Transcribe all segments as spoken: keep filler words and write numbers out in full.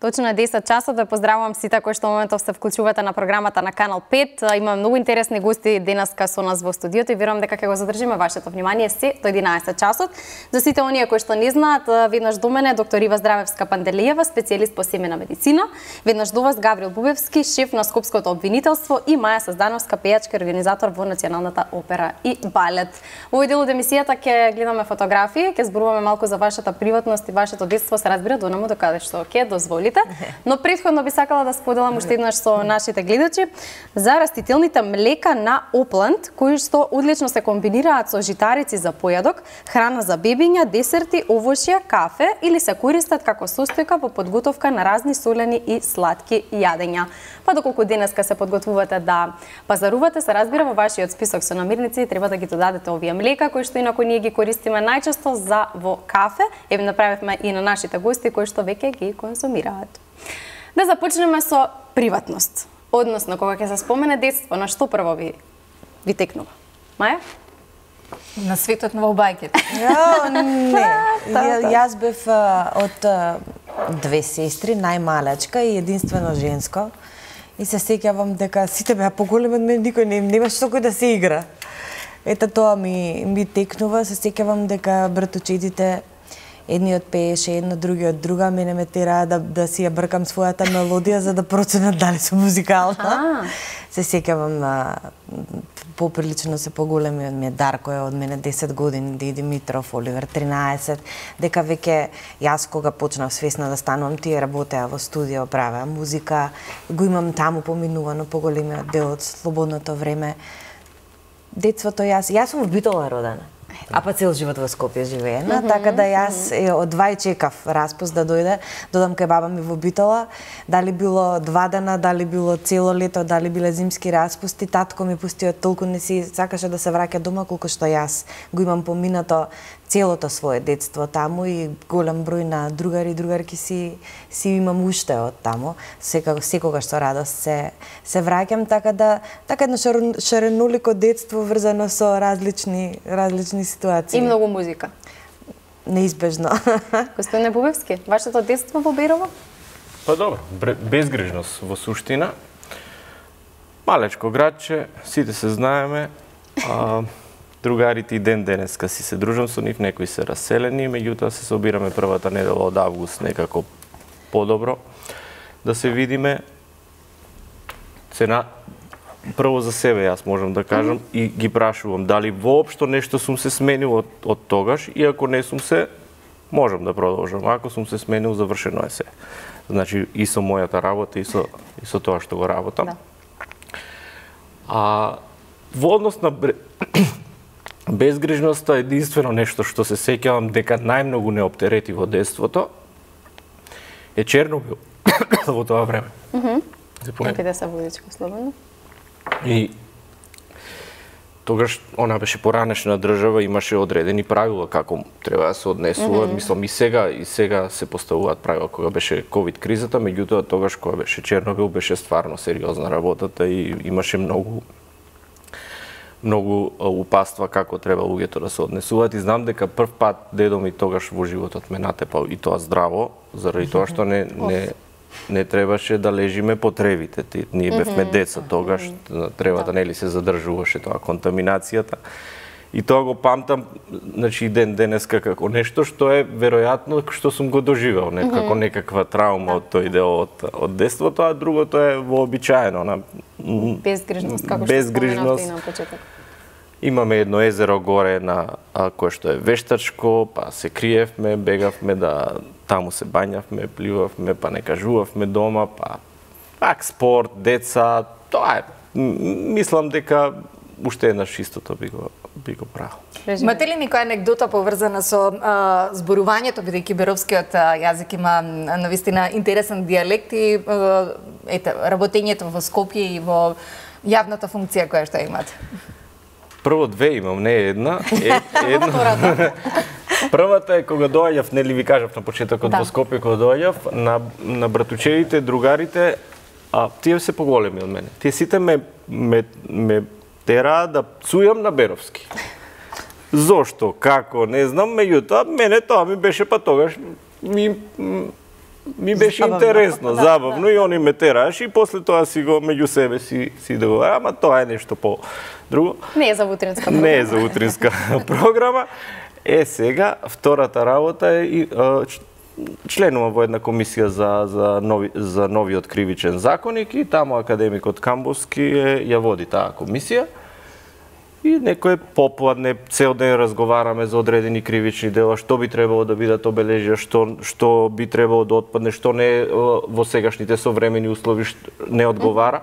Точно на десет часот ве поздравувам сите кои што моментов се вклучувате на програмата на Канал пет. Има многу интересни гости денеска со нас во студиото и верувам дека ќе го задржиме вашето внимание се до единаесет часот. За сите оние кои што не знаат, веднаш до мене доктор Ива Здравевска-Панделиева, специјалист по семена медицина, веднаш до вас Гаврил Бубевски, шеф на Скопското обвинителство, и Маја Саздановска, пејачка и организатор во Националната опера и балет. Во овој дел од емисијата ќе гледаме фотографии, ќе зборуваме малку за вашата приватност и вашето детство, се разбира до наму до каде што ќе дозволите. Но претходно би сакала да споделам уште еднаш со нашите гледачи за растителните млека на Опланд, кои што одлично се комбинираат со житарици за појадок, храна за бебиња, десерти, овошје, кафе или се користат како состојка во подготовка на разни солени и сладки јадења. Па доколку денеска се подготвувате да пазарувате, се разбира во вашиот список со намирници треба да ги додадете овие млека кои што инаку ние ги користиме најчесто за во кафе. Еве направивме и на нашите гости кои што веќе ги конзумираат. Да започнеме со приватност. Односно, кога ќе се спомене детство, на што прво ви ви текнува? Маја? На светот на бајките. Ја, не. Ја, јас бев од две сестри, најмалечка и единствено женско. И се сеќавам дека сите беа поголеми од мене, никој не немаше со кој да се игра. Ета тоа ми ми текнува, се сеќавам дека братучетите едниот пееше едно, другиот друга, мене ме тераа да да си ја бркам својата мелодија за да проценат дали сум музикална. Се сеќавам поприлично се поголеми од мене, Дарко е од мене десет години, Ди Димитров, Оливер тринаесет, дека веќе јас кога почнав свесна да станувам, тие работеа во студио, правеа музика, го имам таму поминувано поголемиот дел од слободното време. Детството јас, јас сум во Битола родена. А па цел живот во Скопје живеена, mm -hmm, така да јас е, од два чекав распуст да дојде, додам кај баба ми во Битола, дали било два дена, дали било цело лето, дали биле зимски распусти, татко ми пусти, толку не си сакаше да се враќа дома колку што јас го имам поминато целото свое детство таму и голем број на другари и другарки си си имам уште од таму. Секогаш секогаш со радост се се враќам, така да така едно шаренолико детство врзано со различни различни ситуации. И многу музика. Неизбежно. Господине Бубевски, вашето детство во Берово? Па добро, безгрижност во суштина. Малечко градче, сите се знаеме. А, другарите и ден денеска си се дружам со нив, некои се раселени, меѓутоа се собираме првата недела од август некако подобро да се видиме. Цена прво за себе јас можам да кажам, mm -hmm. и ги прашувам дали воопшто нешто сум се сменил од, од тогаш, и ако не сум се, можам да продолжам. Ако сум се сменил, завршено е се. Значи и со мојата работа и со и со тоа што го работам. Да. А во однос на безгрижноста, единствено нешто што се сеќавам дека најмногу не оптерети во детството е Чернобил во тоа време. Мхм. Нека да се водичко слободно. И тогаш она беше поранешна држава, имаше одредени правила како треба да се однесува. Mm-hmm. Мислам и сега и сега се поставуваат правила кога беше ковид кризата, меѓутоа тогаш кога беше Чернобил беше стварно сериозна работата и имаше многу многу упатства како треба луѓето да се однесуваат, и знам дека прв пат дедо ми тогаш во животот ме натепал, и тоа здраво, заради тоа што не не не требаше да лежиме по тревите. Ние бевме деца тогаш, тревата нели се задржуваше тоа контаминацијата. И тоа го памтам, значи ден денеска како нешто што е веројатно што сум го доживел, не како некаква траума од тој дел од од детството, а другото е вообичаено, на безгрижност, како што споменавте и на почеток. Имаме едно езеро горе на а, кое што е вештачко, па се криевме, бегавме да таму се бањавме, пливавме, па не кажувавме дома, па пак спорт, деца, тоа е. Мислам дека уште еднаш истото би го би го правил. Имате ли некоја анекдота поврзана со а, зборувањето, бидејќи беровскиот а, јазик има навистина интересен дијалект и а, ете работењето во Скопје и во јавната функција која што имате? Прво две имам, не една. Е, една. Првата е кога доаѓав, нели ви кажав на почетокот, да, во Скопје кога доаѓав, на на братучевите, другарите, а тие се поголеми од мене. Тие сите ме ме ме тераа да пцујам на беровски. Зошто, како, не знам, меѓутоа мене тоа ми беше па тогаш ми ми беше забавно. интересно, забавно и они ме тераш и после тоа си го меѓу себе си си договара, ама тоа е нешто по друго. Не е за утринска програма. Не е за утринска програма. Е, сега, втората работа е и а, членувам во една комисија за, за, нови, за новиот кривичен законник и таму академикот Камбовски е, ја води таа комисија. И некој попладне, цел ден разговараме за одредени кривични дела, што би требало да бидат обележија, што, што би требало да отпадне, што не во сегашните современи услови не одговара.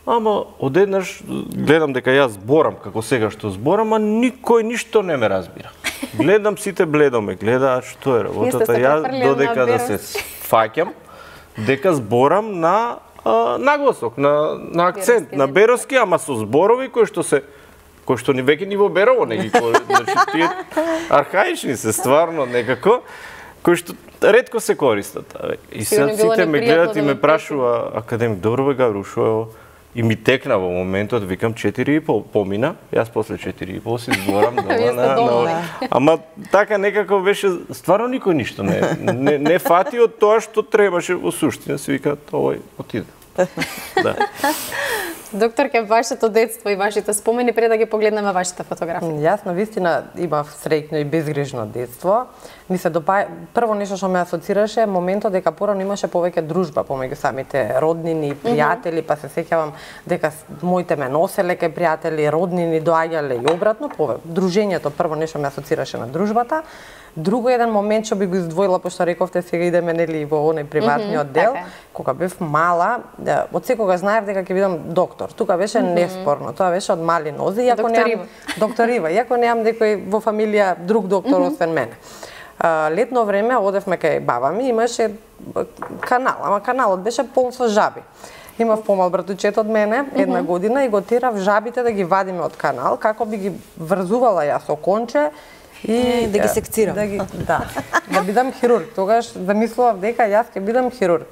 Ама одеднаш гледам дека јас зборам како сега што зборам, а никој ништо не ме разбира. Гледам, сите бледо ме гледаат, што е работата, јас додека да се фаќам, дека зборам на а, нагласок, на, на акцент, Беровски, на беровски, ама со зборови кои што се кои што ни веќе ни во Берово не ги кои, значи тие архаични се стварно некако, кои што ретко се користат. И сега сите ме гледат и ме прашува академик, добро бе Гаврил, шо е ово? И ми текна во моментот, викам четири и пол помина, јас после четири и пол си зборам дома на, на... Ама така некако беше, стварно никој ништо не, не, не фати од тоа што требаше во суштина, се вика, овој отиде. Да. Докторке, вашето детство и вашите спомени, пред да ги погледнеме вашите фотографии. Јас на вистина имав среќно и безгрижно детство. Ми се допаја, прво нешто што ме асоцираше моментот дека порано имаше повеќе дружба помеѓу самите роднини и пријатели, па се сеќавам дека моите ме носеле кај пријатели, роднини доаѓале и обратно, пове дружењето прво нешто ме асоцираше на дружбата. Друго еден момент што би го издвоила, пошто рековте сега идеме нели во оној приватниот дел, така. Кога бев мала, од секогаш знаев дека ќе бидам доктор. Тука беше mm -hmm. неспорно, тоа беше од мали нози, иако немам докторива, иако немам некој во фамилија друг доктор mm -hmm. освен мене. Летно време одевме кај баба ми, имаше канал, ама каналот беше полн со жаби. Имав помал братучет од мене, една mm -hmm. година, и го терав жабите да ги вадиме од канал, како би ги врзувала јас со конче и да ги секцирам. Да, ги, да, да бидам хирург. Тогаш замислував дека јас ќе бидам хирург.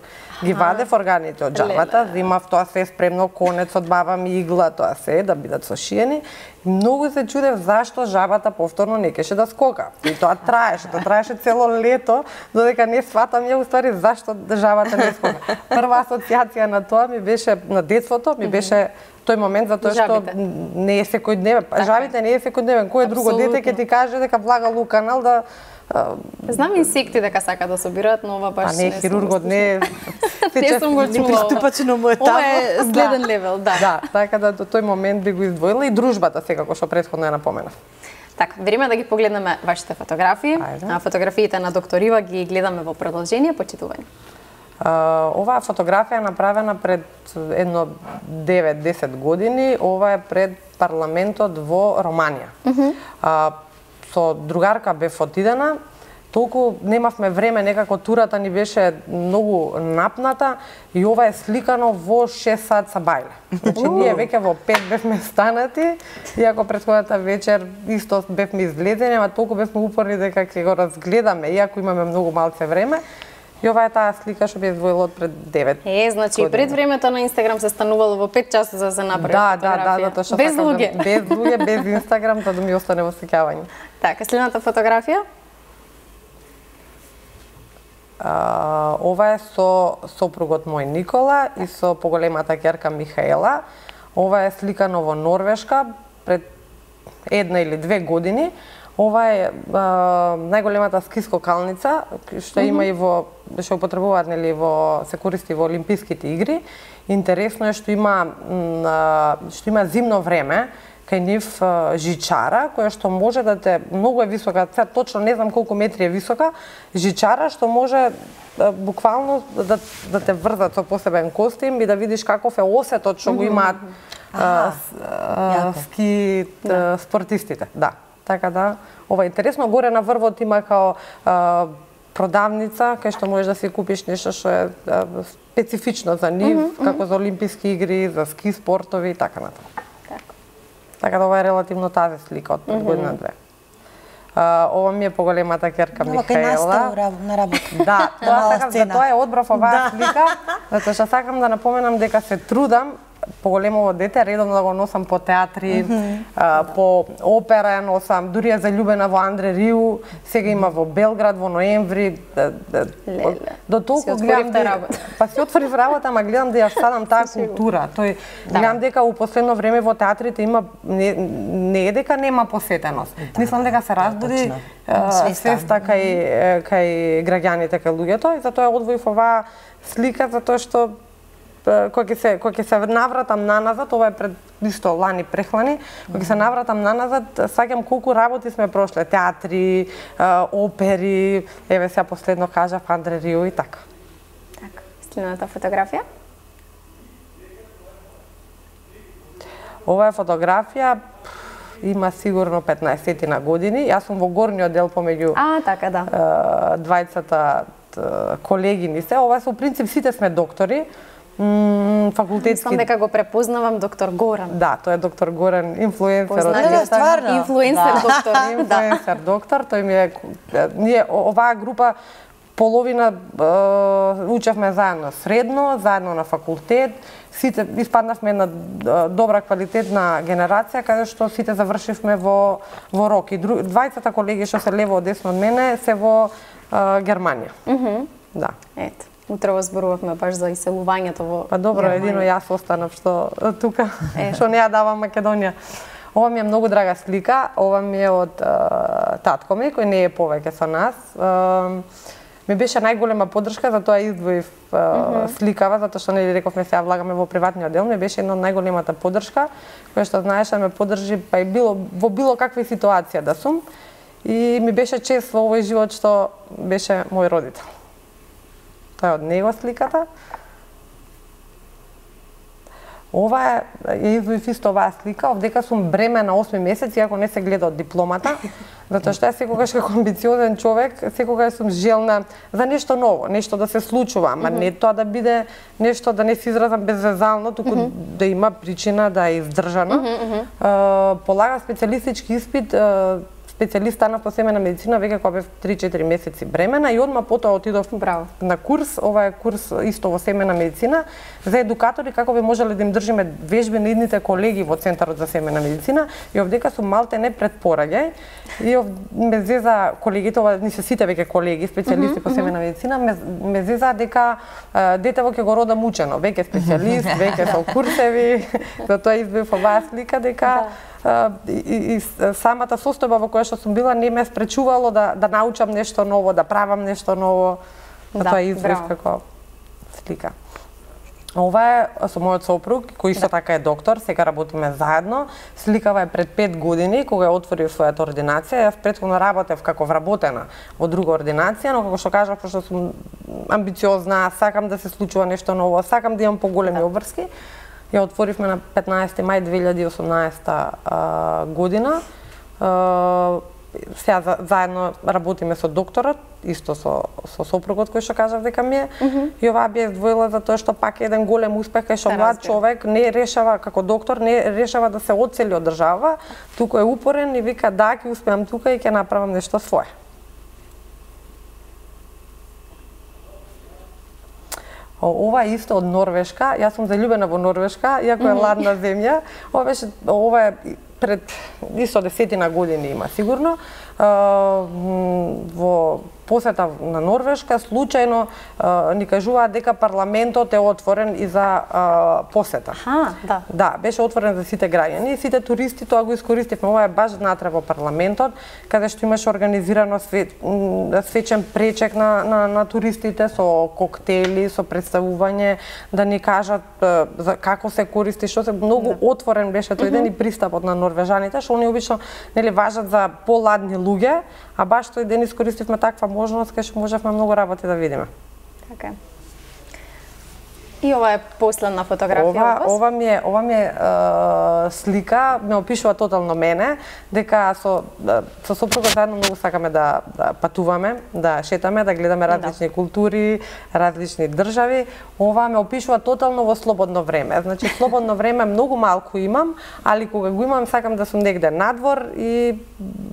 Ги вадев органите од жабата, имав тоа се спремно, конец од баба ми, игла, тоа се, да бидат сошиени. Многу се чудев зашто жабата повторно не кеше да скока. И тоа траеше, тоа траеше цело лето, додека не сватам ја уствари зашто жабата не скока. Прва асоциација на тоа ми беше, на детството, ми беше тој момент, затоа што Жабите. не е секојдневен. Жабите не е секојдневен. Кој е друго дете ќе ти каже дека влагал у канал да... Знам инсекти дека сака да собираат, но ова баш а не, не хирургот не е... Не сум го чула. Приступачено му е таму. Ова е следен левел, да. Да, така да до тој момент би го издвоила и дружбата секако што претходно ја напоменав. Така, време да ги погледнеме вашите фотографии. Ајде. Фотографиите на доктор Ива ги гледаме во продолжение, почитување. Uh, оваа фотографија е направена пред едно девет-десет години. Ова е пред парламентот во Романија. Uh -huh. uh, со другарка бев отидена, толку немавме време, некако турата ни беше многу напната и ова е сликано во шест сат са бајле. Значи, ние веќе во пет бевме станати, иако претходната вечер исто бевме излезени, ама толку бевме упорни дека ќе го разгледаме, иако имаме многу малце време. И ова е таа слика што би издвоила од пред девет. Е, значи пред времето на Инстаграм се станувало во пет часот за да се направи да, фотографија. Да, да, затоа што без луѓе. Да, без луѓе, без Инстаграм, за да ми остане во сеќавање. Така, следната фотографија? А, ова е со сопругот мој Никола и со поголемата ќерка Михаела. Ова е сликано во Норвешка пред една или две години. Ова е а, најголемата скискокалница што mm -hmm. има и во што употребуваат нели во се користи во олимписките игри. Интересно е што има а, што има зимно време кај нив а, жичара која што може да те многу е висока, сега точно не знам колку метри е висока, жичара што може а, буквално да да те врзат со посебен костим и да видиш каков е осетот што го имаат а, а, ски да. спортистите. Да. Така да, ова е интересно. Горе на врвот има као а, продавница, кај што можеш да си купиш нешто што е а, специфично за нив, mm -hmm, како за олимписки игри, за ски спортови и така натаму. Така. Така да ова е релативно тази слика од пред mm -hmm. година две. А, ова ми е поголемата ќерка Михаела. На работа. Да, тоа сакам, за тоа е одбрав оваа слика, затоа што сакам да напоменам дека се трудам поголемово дете, редовно да го носам по театри, mm -hmm. а, по опера ја носам, дури ја залюбена во Андре Риу, сега има во Белград во ноември. Леле. До толку гледам да па си отворив работа, ама гледам да ја садам таа култура. Тој да. Гледам дека у последно време во театрите има не, не е дека нема посетеност. Да. Мислам дека се разбуди свеста кај кај граѓаните, кај луѓето, и затоа одвоив оваа слика, затоа што кога ќе се кога ќе се навратам наназад, ова е пред исто лани прехлани, кога ќе се навратам наназад, саѓам колку работи сме прошле, театри, опери, еве сега последно кажав Андре Риу и така. Така, следната фотографија? Ова е фотографија, има сигурно петнаесет на години. Јас сум во горниот дел помеѓу А, така да. двајцата колеги ни се. Ова со принцип сите сме доктори. Факултетски. Мислам дека го препознавам доктор Горан. Да, тој е доктор Горан, инфлуенсер. Да, стварно. Инфлуенсер да. доктор. Инфлуенсер доктор, тој ми е ние оваа група половина е, учевме заедно средно, заедно на факултет. Сите испаднавме една добра квалитетна генерација каде што сите завршивме во во Рок. И друг, двајцата колеги што се лево од десно од мене се во е, Германија. Mm -hmm. Да. Ето. Утре зборувавме баш за иселувањето во Па добро, Германија. Едино јас останав што тука, што не ја давам Македонија. Ова ми е многу драга слика, ова ми е од uh, татко ми, кој не е повеќе со нас. Uh, ми беше најголема поддршка, затоа издвоив uh, mm -hmm. сликава, затоа што не рековме сега влагаме во приватниот дел, ми беше една од најголемата поддршка, која што знаеше да ме поддржи па и било во било каква ситуација да сум. И ми беше чест во овој живот што беше мој родител. Тоа е од него сликата. Ова е, ја издвоив исто оваа слика, овдека сум бремена осми месец, иако не се гледа од дипломата, затоа што јас секогаш како амбициозен човек, секогаш сум желна за нешто ново, нешто да се случува, ама mm -hmm. не тоа да биде нешто, да не се изразам безвезално, туку mm -hmm. да има причина, да е издржано. Mm -hmm. uh, полага специјалистички испит, uh, специјалист станав по семејна медицина веќе кога бев три-четири месеци бремена и одма потоа отидов Браво. на курс, ова е курс исто во семејна медицина за едукатори како би можеле да им држиме вежби на идните колеги во Центарот за семејна медицина и овдека сум малте не пред пораѓај и ов, ме зеза колегите, ова ни се сите веќе колеги, специјалисти mm -hmm, по семејна медицина, ме, ме зеза дека а, детево ќе го родам учено, веќе специјалист, веќе со курсеви, затоа избив оваа слика дека Uh, и, и, и самата состојба во која што сум била не ме спречувало да, да научам нешто ново, да правам нешто ново. Да, тоа извив како слика. Ова е со мојот сопруг, кој исто да. така е доктор, сега работиме заедно. Сликава е пред пет години, кога ја отворив својата ординација. Јас претходно работев како вработена во друга ординација, но како што кажав, пошто сум амбициозна, сакам да се случува нешто ново, сакам да имам поголеми да. обврски. Ја отворивме на петнаесети мај две илјади и осумнаесета година. А, сега за, заедно работиме со докторот, исто со, со сопругот кој што кажав дека ми е. Mm -hmm. И оваа би издвоила затоа што пак е еден голем успех кај што да, млад човек не решава како доктор, не решава да се одсели од држава, туку е упорен и вика да, ќе успеам тука и ќе направам нешто свое. Ова е исто од Норвешка. Јас сум заљубена во Норвешка, иако е ладна земја. Ова беше ова е пред исто десетина години има сигурно. Во посета на Норвешка случајно ни кажуваат дека парламентот е отворен и за посета. Аха, да. Да, беше отворен за сите граѓани и сите туристи тоа го искористивме. Ова е баш внатре во парламентот, каде што имаше организирано свет, свечен пречек на, на, на туристите со коктели, со представување, да ни кажат за како се користи, што се многу да. отворен беше тој ден и пристапот на норвежаните, што они обично нели важат за поладни луѓе, а баш тој ден искористивме таква можност кај што можевме многу работи да видиме. Така е. И ова е последна фотографија ова, ова ми е, ова ми е, е слика, ме опишува тотално мене, дека со со сопругот заедно многу сакаме да, да патуваме, да шетаме, да гледаме различни да. култури, различни држави. Ова ме опишува тотално во слободно време. Значи слободно време многу малку имам, али кога го имам сакам да сум негде надвор и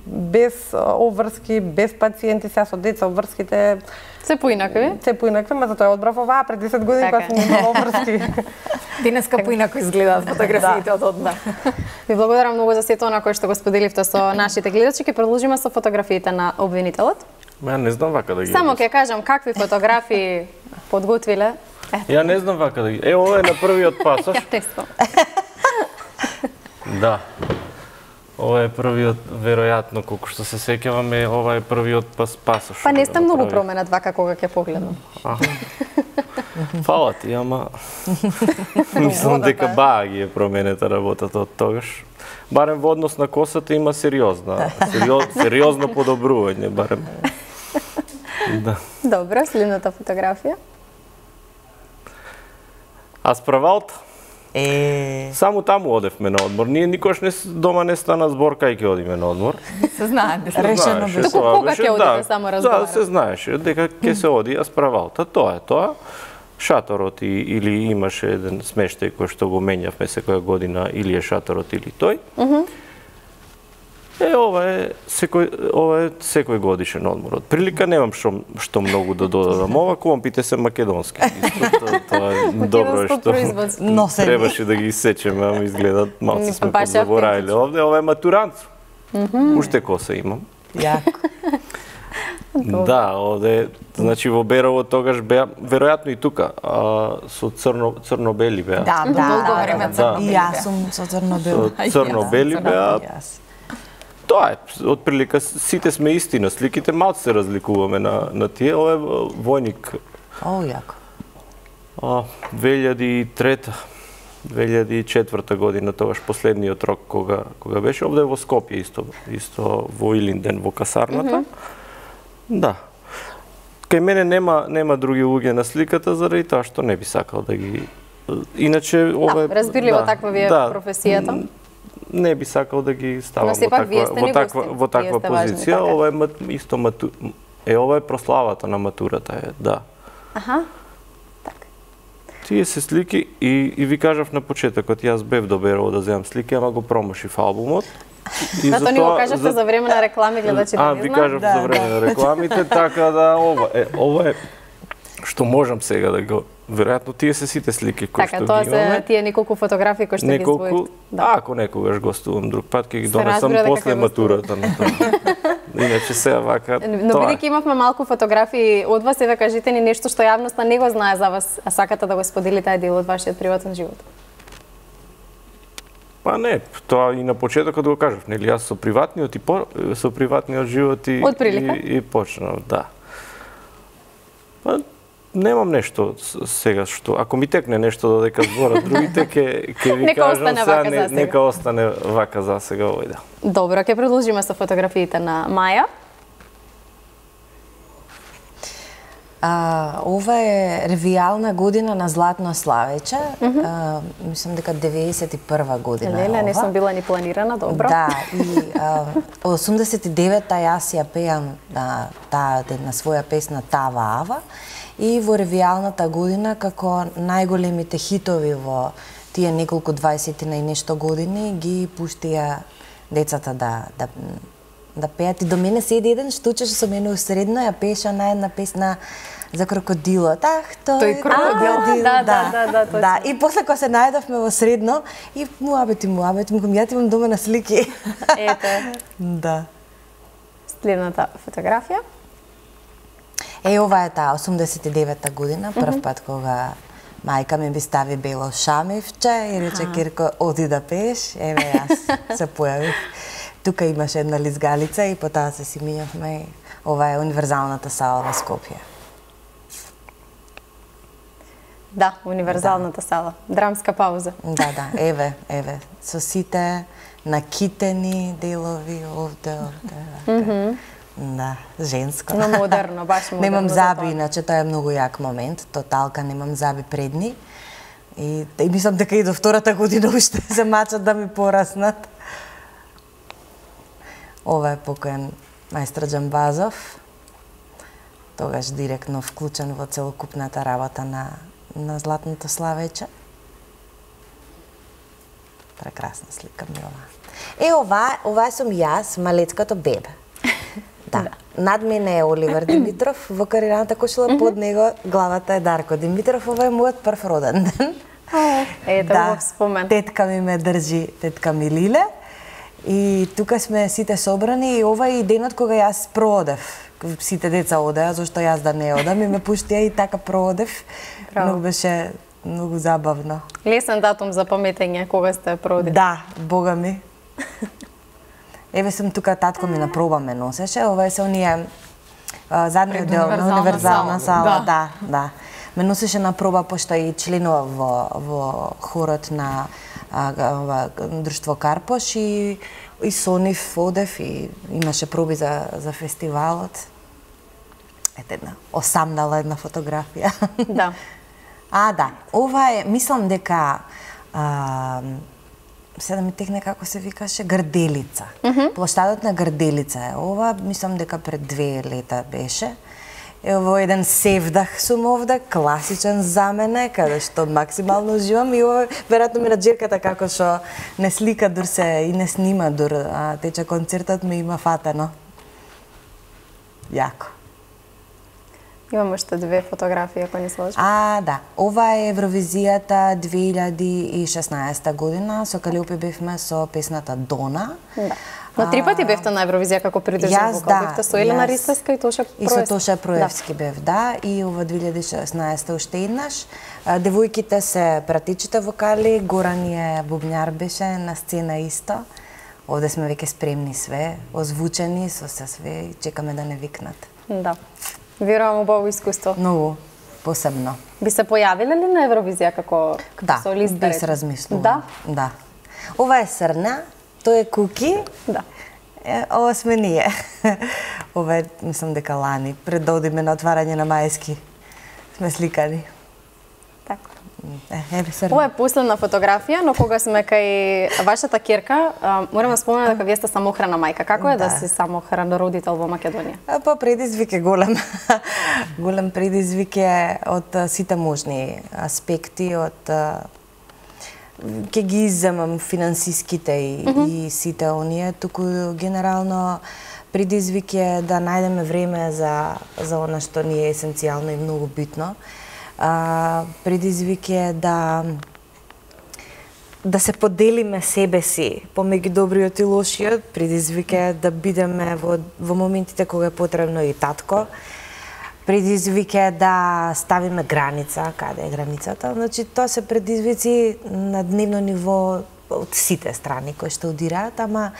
без обврски, без пациенти, сега со деца обврските Се поинакви? Се поинакви, ма затоа одбрав оваа пред десет години кога сум имала врски. Денеска поинако изгледаат фотографиите од одма. Ви благодарам многу за сето она кое што го споделивте со нашите гледачи. Ќе продолжиме со фотографиите на обвинителот. Ја не знам вака да ги. Само ќе кажам какви фотографии подготвиле. Ја не знам вака да ги. Е, ова е на првиот пасош. Ја тестам. Да. Ова е првиот, веројатно, колку што се сеќаваме, ова е првиот пас пасош. Па не сте многу променет вака кога ќе погледам. Фала ти, ама мислам дека баа ги е променета работата од тогаш. Барем во однос на косата има сериозна, сериоз, сериозно подобрување, барем. Да. Добро, следната фотографија. А справалт? Е, Само таму одевме на одмор. Ние никош не дома не стана збор кај ќе одиме на одмор. Се знае дека решено Знаеше, беше. тоа Кога беше, ќе одите, да, само разговараме. Да, се знаеше дека ќе се оди, а справалта, тоа е тоа. Шаторот и, или имаше еден смештај кој што го менјавме секоја година, или е шаторот или тој. Мхм. Е, ова е секој ова е секој годишен одмор. Од прилика немам што што многу да додадам. Ова кломпите се македонски. Исто, тоа, тоа е добро е што Носени. требаше да ги исечеме, ама изгледат малку сме Баш позаборавиле овде. Ова е матуранцо. Уште коса имам. јако. Да, овде, значи во Берово тогаш беа, веројатно и тука, а, со црно црно-бели беа. Да, да, Долго да, време да, црно-бели И јас беа. сум со црно-бел. Со црно-бели беа. Јас. Тоа е, од прилика сите сме исти на сликите, малку се разликуваме на на тие. Ова е војник О, јако. а, две илјади и трета, две илјади и четврта година, тогаш последниот рок кога кога беше овде во Скопје исто, исто во Илинден во касарната. Да. Кај мене нема нема други луѓе на сликата заради тоа што не би сакал да ги иначе ова е Да, разбирливо таква ви е професијата. Не би сакал да ги ставам Но во сепак таква вие сте во ни таква гости. во таква Вие сте важни, позиција. така. Ова е мат, исто мату, е ова е прославата на матурата е, да. Аха. Така. Тие се слики и и ви кажав на почетокот, јас бев до Берово да земам слики, ама го промашив албумот. И Зато ни го кажавте за време на реклами, гледачите А, не ви знаат. кажав Да, за време да. на рекламите, така да ова е ова е што можам сега да го веројатно тие се сите слики кои Така, што тоа ги се имаме. тие неколку фотографии кои што ги Неколку, издвоивте. да. Ако некогаш гостувам друг пат, ќе ги Се донесам разбира дека после ќе матурата на тоа. Иначе сега вака, Но тоа е. бидејќи имавме малку фотографии од вас, еве кажете ни нешто што јавноста не го знае за вас, а сакате да го споделите тај дел од вашиот приватен живот. Па не, тоа и на почетокот го кажав, нели јас со приватниот и по, со приватниот живот и Од прилика? и, и почнав, да. Па немам нешто с- сега што ако ми текне нешто додека зборат другите ќе ќе ви Нека кажам остане сега, вака не, за сега. нека остане вака за сега овој дел. Добро, ќе продолжиме со фотографиите на Маја. А, ова е ревијална година на Златно Славече. А, мислам дека деветдесет и прва година е Леле, не ова. сум била ни планирана, добро. Да, и а, осумдесет и девета јас ја пеам на таа на своја песна Тава Ава и во ревијалната година како најголемите хитови во тие неколку дваесет и нешто години ги пуштија децата да да да пеат и до мене седи еден што учеше со мене усредно, ја пееше на една песна за крокодилот. Ах, тој, Тој крокодил. А, да, да, да, да, точно. Да, и после кога се најдовме во средно и муабети, муабети, му ја имам дома на слики. Ете, Да. следната фотографија. Е, ова е таа осумдесет и девета година, прв пат кога мајка ми би стави бело шамивче и рече Кирко, оди да пееш. Еве јас се појавив. Тука имаше една лизгалица и потоа се си минавме. Ова е универзалната сала во Скопје. Да, универзалната сала. Драмска пауза. Да, да, еве, еве, со сите накитени делови овде, овде. вака. Да, женско. Но модерно, баш модерно. Немам за заби, тоа. иначе тоа е многу јак момент. Тоталка немам заби предни. И, и мислам дека и до втората година уште се мачат да ми пораснат. Ова е покоен мајстор Џамбазов. Тогаш директно вклучен во целокупната работа на, на Златното Славече. Прекрасна слика ми ова. Е, ова, ова сум јас, малецкото бебе. Да. над мене е Оливер Димитров, во карираната кошула, под него главата е Дарко Димитров, ова е мојот прв роден ден. Ето да, го спомен. Тетка ми ме држи, тетка ми Лиле. И тука сме сите собрани и ова е и денот кога јас проодев. Сите деца одеа, зашто јас да не одам и ме пуштија и така проодев. Многу беше многу забавно. Лесен датум за паметење кога сте проодели. Да, бога ми. Еве сум тука, татко ми на проба ме носеше, ова е се оние задниот дел на универзална сала, да, да. да. Ме носеше на проба пошто и членува во во хорот на а, ова друштво Карпош и и со нив одев и имаше проби за за фестивалот. Ете една осамнала една фотографија. Да. А, да. Ова е, мислам дека а, се да ми текне како се викаше, Грделица. Mm -hmm. Плоштадот на Грделица е ова, мислам дека пред две лета беше. Ево еден севдах сум овде, класичен за мене, каде што максимално уживам и ова веројатно ми на џерката како што не слика дур се и не снима дур, а тече концертот ми има фатено. Јако. Имам уште две фотографии, ако не се лажам. А, да. Ова е Евровизијата две илјади и шеснаесета година. Со Калиопи бевме со песната Дона. Да. Но три пати бевте на Евровизија како придржан вокал. Да, бевте со Елена Ристевска и Тоша Проевски. И со Тоша Проевски да. бев, да. И ова две илјади и шеснаесета уште еднаш. Девојките се пратичите вокали, Горан е бубњар беше на сцена исто. Овде сме веќе спремни све, озвучени со се све и чекаме да не викнат. Да. Верувам убаво искуство. Многу посебно. Би се појавиле ли на Евровизија како, како да, солист? Да, би се размислувам. Да? Да. Ова е Срна, тој е Куки. Да. Е, ова сме ние. Ова е, мислам дека лани, пред да одиме на отварање на Мајски. Сме сликани. Така. Е, еве Срна. Ова е последна фотографија, но кога сме кај вашата ќерка, морам да спомнам дека вие сте самохрана мајка. Како е да, да си самохран родител во Македонија? Па предизвик е голем. Голем предизвик е од сите можни аспекти, од ќе ги изземам финансиските и, mm -hmm. и сите оние, туку генерално предизвик е да најдеме време за за она што ни е есенцијално и многу битно. А, предизвик е да да се поделиме себе си помеѓу добриот и лошиот. Предизвик е да бидеме во во моментите кога е потребно и татко. Предизвик е да ставиме граница, каде е границата. Значи, тоа се предизвици на дневно ниво од сите страни кои што удираат, ама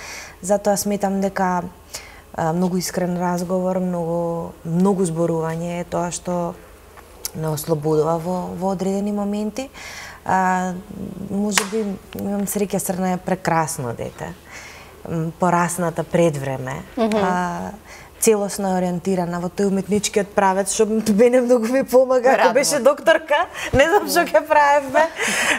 затоа сметам дека а, многу искрен разговор, многу многу зборување е тоа што не ослободува во во одредени моменти. А, може би имам среќа, Срна е прекрасно дете. Порасната пред време. Mm -hmm. а, целосно ориентирана во тој уметничкиот правец, што мене многу ми помага, ако беше докторка, не знам што ќе правевме.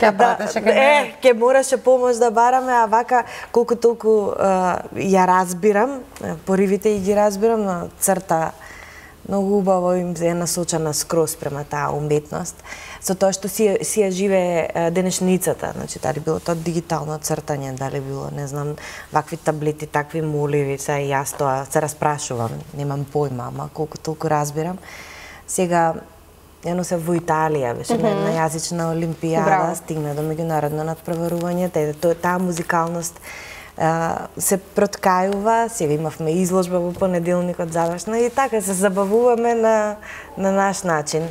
Ќе пратеше кај мене. Е, ќе мораше помош да бараме, а вака колку толку uh, ја разбирам, поривите и ги разбирам, но црта многу убаво им е насочена скроз према таа уметност, со тоа што си, си ја живее денешницата, значи дали било тоа дигитално цртање, дали било, не знам, вакви таблети, такви моливи, са и јас тоа се распрашувам, немам појма, ама колку толку разбирам. Сега, едно се во Италија, беше mm -hmm. една јазична олимпијада, Браво. Стигна до меѓународно надпреварување, таа, таа музикалност Uh, се проткајува, сега имавме изложба во понеделникот завршна и така се забавуваме на, на наш начин.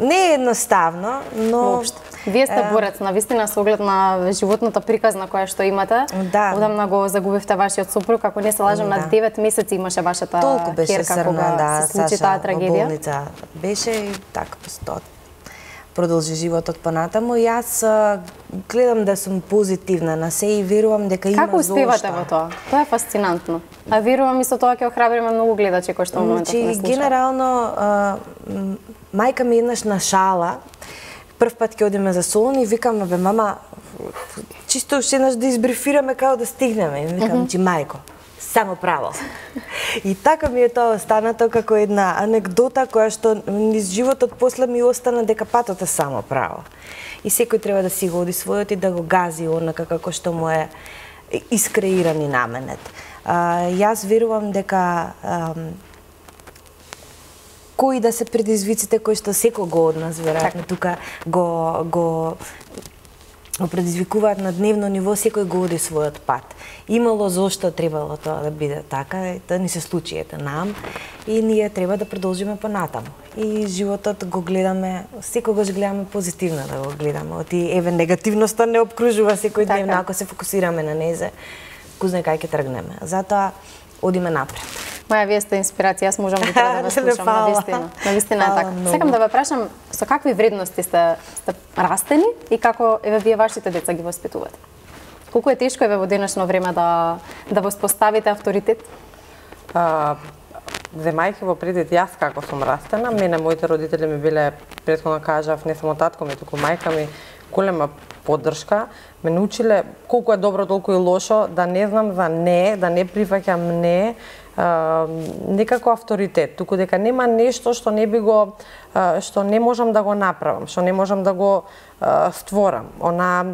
Не е едноставно, но... Воопшто. Вие сте борец, на вистина, со оглед на животната приказна која што имате. Да. Одамна го загубивте вашиот сопруг, ако не се лажам, да. На девет месеци имаше вашата ќерка кога да, се случи Саша, таа трагедија. Во болница беше и така постои. Продолжи животот понатаму. Јас гледам да сум позитивна на се и верувам дека има зошто. Како успевате во тоа? Тоа е фасцинантно. А верувам и со тоа ќе охрабриме многу гледачи кои што во моментот не слушаат. Генерално, а, мајка ми еднаш на шала, прв пат ќе одиме за Солун и викам, бе, мама, чисто уште еднаш да избрифираме како да стигнеме. И викам, mm -hmm. чи мајко, само право. И така ми е тоа останато како една анекдота која што низ животот после ми остана дека патот е само право. И секој треба да си го оди својот и да го гази онака како што му е искреиран и наменет. А, јас верувам дека а, кои да се предизвиците кои што секого од нас веројатно тука го го го предизвикуваат на дневно ниво, секој го оди својот пат. Имало зошто требало тоа да биде така, тоа ни се случи ете нам и ние треба да продолжиме понатаму. И животот го гледаме, секогаш гледаме позитивно да го гледаме. Оти еве негативноста не обкружува секој ден, ако се фокусираме на незе, кој знае кај ќе тргнеме. Затоа одиме напред. Маја, вие сте инспирација, јас можам да да ве слушам, навистина. Навистина е така. Сакам да ве прашам, со какви вредности сте, сте растени и како еве вие вашите деца ги воспитувате? Колку е тешко еве во денешно време да да воспоставите авторитет? А, земајќи во предвид јас како сум растена, мене моите родители ми биле, претходно кажав, не само татко ми, туку мајка ми, голема поддршка, ме научиле колку е добро, толку и лошо, да не знам за не, да не прифаќам не, а, некако авторитет, туку дека нема нешто што не би го, а, што не можам да го направам, што не можам да го а, створам. Она,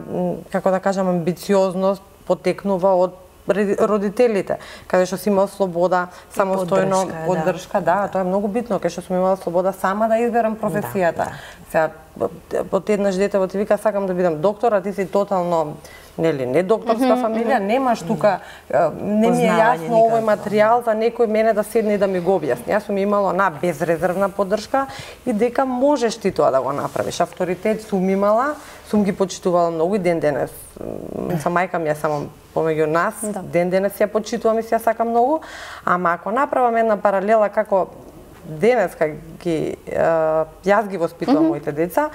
како да кажам, амбициозност потекнува од родителите, каде што си имал слобода, самостојно поддршка, поддршка, да, да, тоа е многу битно, каде што сум имала слобода сама да изберам професијата. Да, да. Сега, од еднаш детево ти вика сакам да бидам доктор, а ти си тотално нели не докторска mm -hmm, фамилија, mm -hmm. немаш тука, не ми е јасно овој материјал за некој мене да седне и да ми го објасни. Јас сум имала на безрезервна поддршка и дека можеш ти тоа да го направиш. Авторитет сум имала, сум ги почитувала многу и ден денес. Са мајка ми е само помеѓу нас, да. Ден денес ја почитувам и се ја сакам многу, ама ако направам една паралела како денес кога ги јас ги воспитувам mm -hmm. моите деца,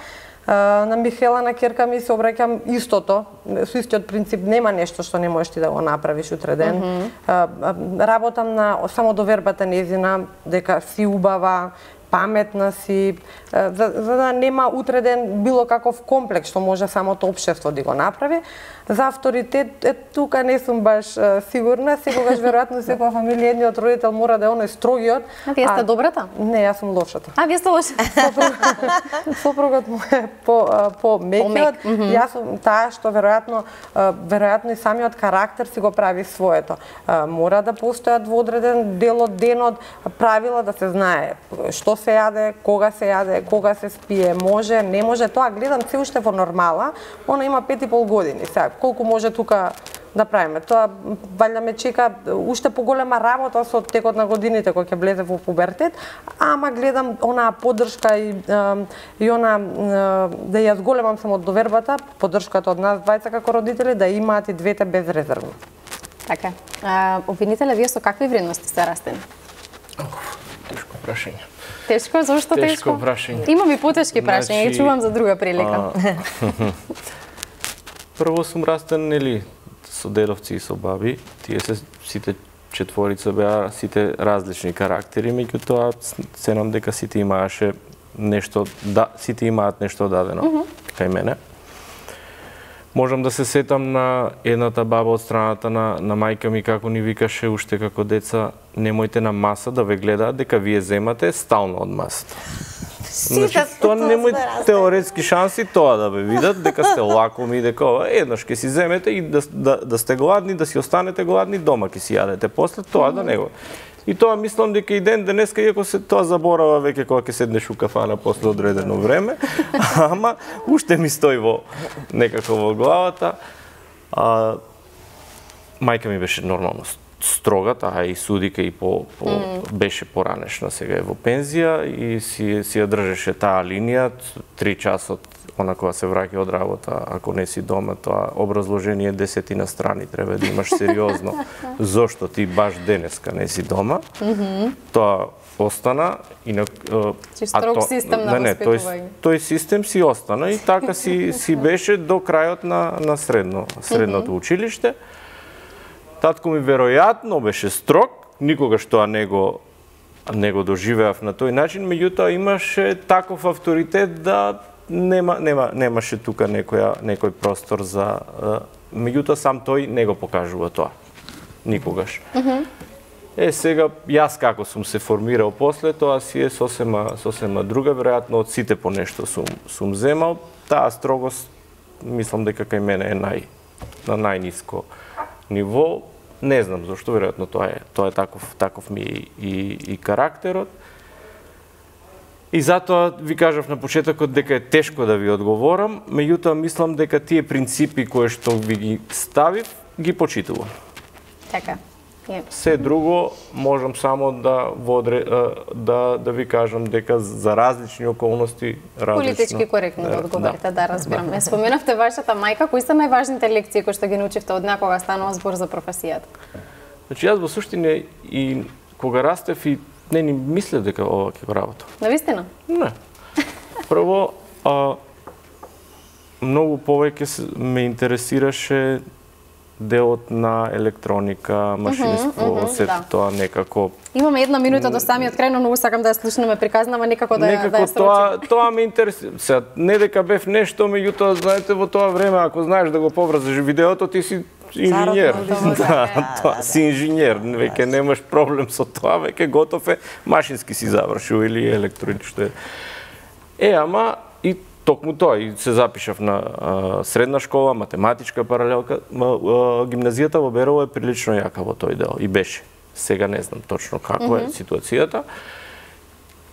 на Михела, на керка ми се обраќам истото, со истиот принцип, нема нешто што не можеш ти да го направиш утре ден. Mm -hmm. Работам на самодовербата незина, дека си убава, паметна си, за, за да нема утре ден било каков комплекс што може самото општество да го направи. За авторитет, е, тука не сум баш е, сигурна, секогаш веројатно секоја фамилија едниот родител мора да е оној строгиот. А вие сте добрата? Не, јас сум лошата. А вие сте лошата. Сопругот му е по по мекиот. Mm -hmm. Јас сум таа што веројатно веројатно и самиот карактер си го прави своето. Мора да постојат во одреден дел од денот правила да се знае што се јаде, кога се јаде, кога се спие, може, не може. Тоа гледам се уште во нормала. Она има пет и пол години. Сега колку може тука да правиме? Тоа валја ме чека уште поголема работа со текот на годините кога ќе влезе во пубертет, ама гледам онаа поддршка и и она да ја зголемам само од довербата, поддршката од нас двајца како родители да имаат и двете безрезервно. Така. А, обвинителе, вие со какви вредности сте растени? Тешко прашање. Тешко, зошто тешко? Тешко прашање. Имам и потешки прашања, ги чувам за друга прилика. Прво сум растен, нели, со дедовци и со баби. Тие се сите четворица беа сите различни карактери, меѓутоа ценам дека сите имааше нешто, да, сите имаат нешто дадено mm -hmm. кај мене. Можам да се сетам на едната баба од страната на, на мајка ми како ни викаше уште како деца, немојте на маса да ве гледаат дека вие земате стално од масата. Значи, тоа немој теоретски шанси тоа да ве видат, дека сте лакоми, дека еднаш ќе си земете и да, да, да сте гладни, да си останете гладни, дома ќе си јадете. После тоа да не го. И тоа мислам дека и ден денеска, иако се тоа заборава веќе кога ќе седнеш у кафана после одредено време, ама уште ми стои во некако во главата. А, мајка ми беше нормално строга, таа и судика и по, по mm. беше поранешна, сега е во пензија и си си ја држеше таа линија три часот она кога се враќа од работа, ако не си дома, тоа образложение десетина страни треба да имаш сериозно. Зошто ти баш денеска не си дома? Mm -hmm. Тоа остана и на строг систем на не, тој тој систем си остана и така си си беше до крајот на на средно средното mm -hmm. училиште. Татко ми веројатно беше строг, никогаш тоа не го не го доживеав на тој начин, меѓутоа имаше таков авторитет да нема нема немаше тука некоја некој простор за меѓутоа сам тој не го покажува тоа. Никогаш. Mm -hmm. Е сега јас како сум се формирал после тоа си е сосема сосема друга, веројатно од сите по нешто сум сум земал. Таа строгост мислам дека кај мене е нај на најниско ниво. Не знам зашто, веројатно тоа е тоа е таков таков ми и и карактерот. И затоа ви кажав на почетокот дека е тешко да ви одговорам, меѓутоа мислам дека тие принципи кои што ви ги ставив, ги почитувам. Така. Се друго можам само да водре, да да ви кажам дека за различни околности различно. Политички коректно да одговорите, да, да разбирам. Да. Споменавте вашата мајка, кои се најважните лекции кои што ги научивте од неа кога станува збор за професијата? Значи јас во суштина и кога растев и не ни мислев дека ова ќе го работам. Навистина? Не. Прво, а, многу повеќе ме интересираше делот на електроника, машинство, uh -huh, uh -huh, сето да. Тоа некако. Имаме една минута до самиот крај, но многу сакам да ја слушнеме приказнава, некако да некако да ја тоа тоа ме интересира. Сега не дека бев нешто, меѓутоа знаете во тоа време ако знаеш да го поврзаш видеото, ти си инженер. Да, тоа си инженер, веќе немаш проблем со тоа, веќе готов е, машински си завршил или електроничко е. Е, ама и токму тоа, и се запишав на а, средна школа, математичка паралелка. А, а, гимназијата во Берово е прилично јака во тој дел, и беше. Сега не знам точно каква е ситуацијата.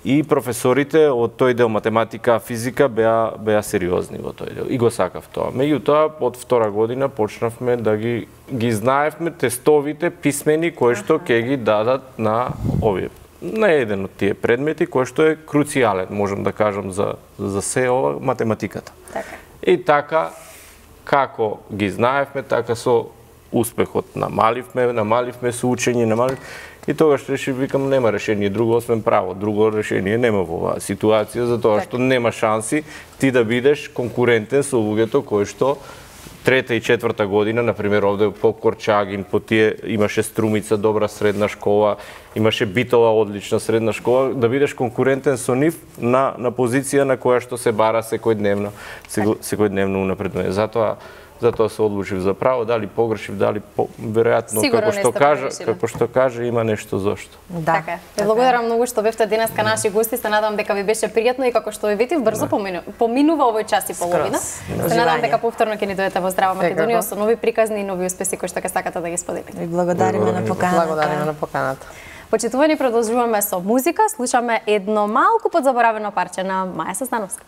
И професорите од тој дел математика, физика беа беа сериозни во тој дел. И го сакав тоа. Меѓутоа, од втора година почнавме да ги ги знаевме тестовите писмени кои што ќе ги дадат на овие на еден од тие предмети кој што е круцијален, можам да кажам за за се ова математиката. Така. И така како ги знаевме, така со успехот намаливме, намаливме со учење, намалив и тогаш решив викам нема решение друго освен право, друго решение нема во оваа ситуација затоа што нема шанси ти да бидеш конкурентен со луѓето кои што трета и четврта година, например, овде по Корчагин, по тие имаше Струмица, добра средна школа, имаше Битола, одлична средна школа, да бидеш конкурентен со нив на на позиција на која што се бара секојдневно, секојдневно унапредување. Затоа затоа се одлучив за право, дали погрешив, дали по, веројатно како што кажа, како што кажа има нешто зошто. Да. Така. Ве благодарам многу што бевте денеска наши гости, се надам дека ви беше пријатно и како што ви видив брзо помину, поминува овој час и половина. Се надам дека повторно ќе ни дојдете во Здрава Македонија со нови приказни и нови успеси кои што ќе сакате да ги споделите. Ви благодариме на поканата. Благодариме на поканата. Почитувани, продолжуваме со музика, слушаме едно малку подзаборавено парче на Маја Создановска.